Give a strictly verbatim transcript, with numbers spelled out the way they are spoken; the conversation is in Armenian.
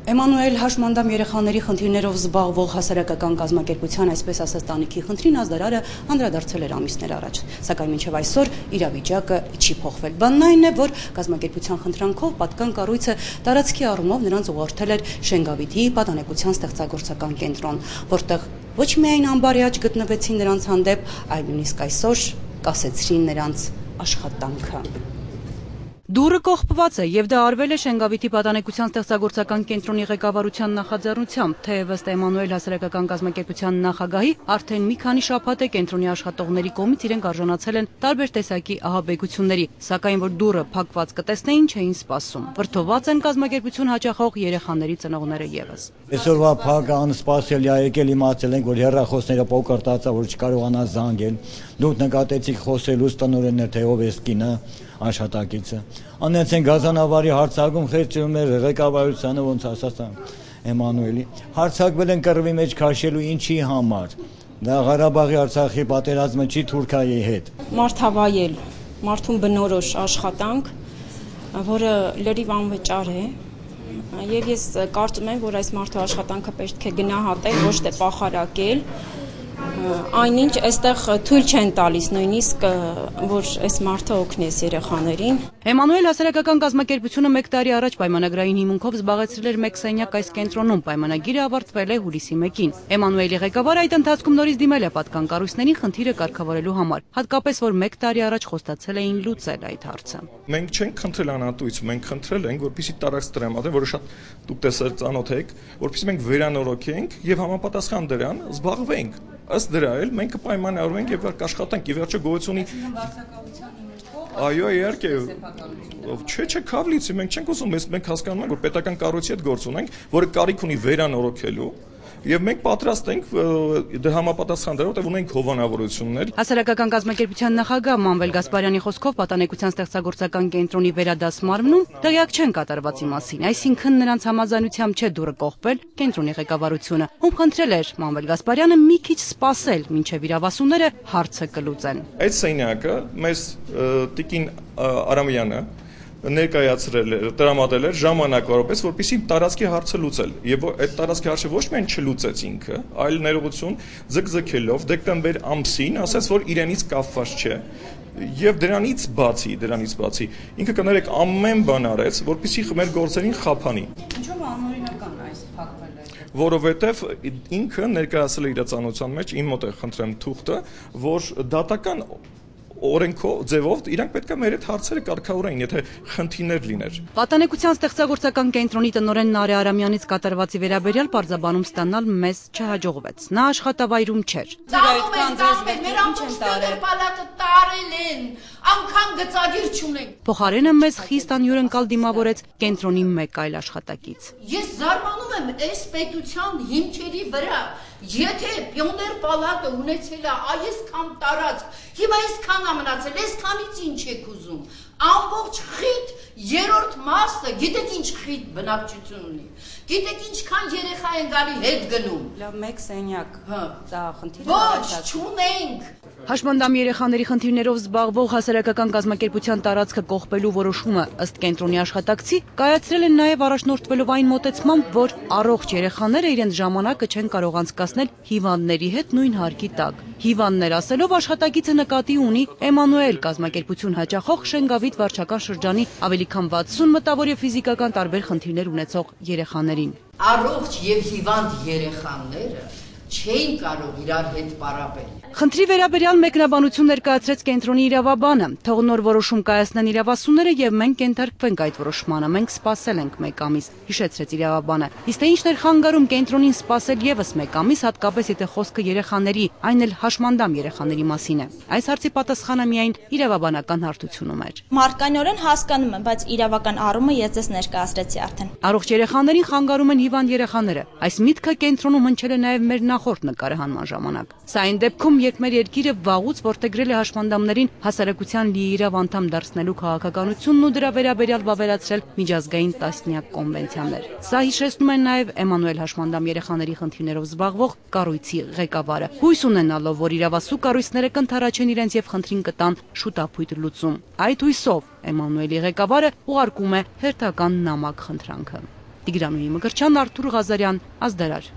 Էմանուել Հաշմանդամ երեխաների խնդիրներով զբաղվող հասարակական կազմակերպության, այսպես ասած տանիքի խնդրին ազդարարը անդրադարձել էր ամիսներ առաջ, սակայն մինչև այսօր իրավիճակը չի փոխվել։ Բանն այն է, որ կազմակերպության խնդրանքով պատկան կառույցը տարածքի առումով նրանց ուղղորդել էր Շենգավիթի պատանեկության ստեղծագործական կենտրոն, որտեղ ոչ միայն անբարյաճ գտնվեցին նրանց հանդեպ, այլ նույնիսկ այսօր կասեցրին նրանց աշխատանքը։ Դուրը կողպված է եւ դա արվել է Շենգավիթի պատանեկության ստեղծագործական կենտրոնի ղեկավարության նախաձեռնությամբ, թեև ըստ Էմանուել հասարակական կազմակերպության նախագահի արդեն մի քանի շաբաթ է կենտրոնի աշխատողների կողմից իրենք արժանացել են տարբեր տեսակի ահաբեկությունների, սակայն որ դուրը փակված կտեսնեին չէին սպասում։ Վրդոված են կազմակերպություն հաճախող երեխաների ծնողները եւս։ Այսօրվա փակը անսպասելի է, եկել իմացել ենք, որ հեռախոսները փոկրտացա, որ չկարողանա զանգել։ Դուք նկատեցիք խոսելուց տնօրեններ, թե ով է կինը աշխատակիցը։ Անեցեն գազանավարի հարցակում խեղճում էր ղեկավարությանը, ոնց ասած Էմանուելի։ Հարցակվել են կռվի մեջ քաշելու ինչի համար։ Դա Ղարաբաղի Արցախի պատերազմը չի Թուրքիայի հետ։ Մարդավայել, մարդուն բնորոշ աշխատանք, որը լրիվ անվճար է, եւ ես կարծում եմ, որ այս մարդու աշխատանքը պետք է գնահատել, ոչ թե պախարակել։ Այնինչ այստեղ թույլ չեն տալիս նույնիսկ, որ այս մարդը օգնես երեխաներին։ Էմանուել հասարակական կազմակերպությունը մեկ տարի առաջ պայմանագրային հիմունքով զբաղեցրել էր մեկ սենյակ այս կենտրոնում, պայմանագիրը ավարտվել է հուլիսի մեկին։ Էմանուելի ղեկավարը այդ ընթացքում նորից դիմել է պատկան կառույցներին խնդիրը կարգավորելու համար, հատկապես որ մեկ տարի առաջ խոստացել էին լուծել այդ հարցը։ Մենք չենք խնդրել անհատույց, մենք խնդրել ենք, որպեսզի տարածք տրամադրեն, որը շատ դուք տեսել ծանոթ եք, որպեսզի մենք վերանորոգենք եւ համապատասխան դրան զբաղվենք։ Ըստ դրա էլ մենք կպայմանավորվենք եւ կաշխատենք, ի վերջո գոյությունի Այո, իհարկե, չէ, չէ, քավլիցի, մենք չենք ուզում, մենք հասկանում ենք, որ պետական կառույցի հետ գործ ունենք, որը կարիք ունի վերանորոգելու, եւ մենք պատրաստ ենք դե համապատասխան դրան, որտեղ ունենք հովանավորություններ։ Հասարակական կազմակերպության նախագահ Մանվել Գասպարյանի խոսքով պատանեկության ստեղծագործական կենտրոնի վերադասմարմնում տեղյակ չեն կատարվածի մասին, այսինքն նրանց համաձայնությամբ չէ դուրը կողպել կենտրոնի ղեկավարությունը, ում խնդրել էր Մանվել Գասպարյանը մի քիչ սպասել, մինչև իրավասուները հարցը կլուծեն։ Այդ սենյակը մեզ տիկին Արամյանը ներկայացրել էր, տրամադրել էր ժամանակավորապես, որպեսզի տարածքի հարցը լուծել։ Եվ այդ տարածքի հարցը ոչ միայն չլուծեց ինքը, այլ ներողություն ձգձգելով դեկտեմբեր ամսին ասաց, որ իրենից կապված չէ։ Եվ դրանից բացի, դրանից բացի, ինքը կներեք ամեն բան արեց, որպեսզի մեր գործերին խափանի։ Ինչով անօրինական այս փակվել է։ Որովհետև ինքը ներկայացրել է իր ծանոթության մեջ, իմ մոտ է խնդրեմ թուղթը, որ դատական օրենքով ձևով իրանք պետք է մեր այդ հարցերը կարգավորեն, եթե խնդիրներ լիներ։ Պատանեկության ստեղծագործական կենտրոնի տնօրեն Նարե Արամյանից կատարվածի վերաբերյալ պարզաբանում ստանալ մեզ չհաջողվեց։ Նա աշխատավայրում չէր։ Անգամ գծագիր չունենք։ Փոխարենը մեզ խիստ անյուրընկալ դիմավորեց կենտրոնի մեկ այլ աշխատակից։ Ես զարմանում եմ այս պետության հիմքերի վրա, եթե պիոներ պալատը ունեցել է այսքան տարածք, հիմա այսքան է մնացել, այսքանից ինչ եք ուզում։ Ամբողջ խիտ երրորդ մասը, գիտեք ինչ խիտ բնակչություն ունի։ Գիտեք ինչքան երեխա են գալի հետ գնում։ Լավ, մեկ սենյակ։ Դա խնդիր է։ Ոչ, չունենք։ Հաշմանդամ երեխաների խնդիրներով զբաղվող հասարակական կազմակերպության տարածքը կողպելու որոշումը ըստ կենտրոնի աշխատակցի կայացրել են նաև առաջնորդվելով այն մոտեցմամբ, որ առողջ երեխաները իրենց ժամանակը չեն կարող անցկасնել հիվանդների հետ նույն հարկի տակ։ Հիվանդներ ասելով աշխատակիցը նկատի ունի Էմանուել կազմակերպություն հաճախող Շենգավիթ վարչական շրջանի ավելի քան վաթսուն մտավոր եւ ֆիզիկական տարբեր խնդիրներ ունեցող երեխաներին։ Առողջ եւ հիվանդ երեխաները չէին կարող իրար հետ պարապել։ Խնդրի վերաբերյալ մեկնաբանություն ներկայացրեց կենտրոնի իրավաբանը, թող նոր որոշում կայացնեն իրավասուները եւ մենք կենթարկվենք այդ որոշմանը, մենք սպասել ենք մեկ ամիս, հիշեցրեց իրավաբանը։ Իսկ թե ինչն էր խանգարում կենտրոնին սպասել եւս մեկ ամիս, հատկապես եթե խոսքը երեխաների, այն էլ հաշմանդամ երեխաների մասին է։ Այս հարցի պատասխանը միայն իրավաբանական հարթությունում էր։ Մարկանորեն հասկանում եմ, բայց իրավական առումը ես ձեզ ներկայացրեցի արդեն։ Առողջ երեխաներին խանգարում են հիվանդ երեխաները։ Այս միտքը կենտրոնում հնչել է նաեւ մեր նախորդ նկարահանման ժամանակ։ Սա այն դեպքում, երբ մեր երկիրը վաղուց որդեգրել է հաշմանդամներին հասարակության լիիրավ անդամ դարձնելու քաղաքականությունն ու դրա վերաբերյալ վավերացրել միջազգային տասնյակ կոնվենցիաներ։ Սա հիշեցնում են նաև Էմանուել Հաշմանդամ երեխաների խնդիրներով զբաղվող կառույցի ղեկավարը, հույս ունենալով, որ իրավասու կառույցները կընդառաջեն իրենց եւ խնդրին կտան շուտապույտ լուծում։ Այդ հույսով Էմանուելի ղեկավարը ուղարկում է հերթական նամակ խնդրանքը։ Տիգրանուհի Մկրտչյան, Արթուր Ղազարյան, Ազդարար։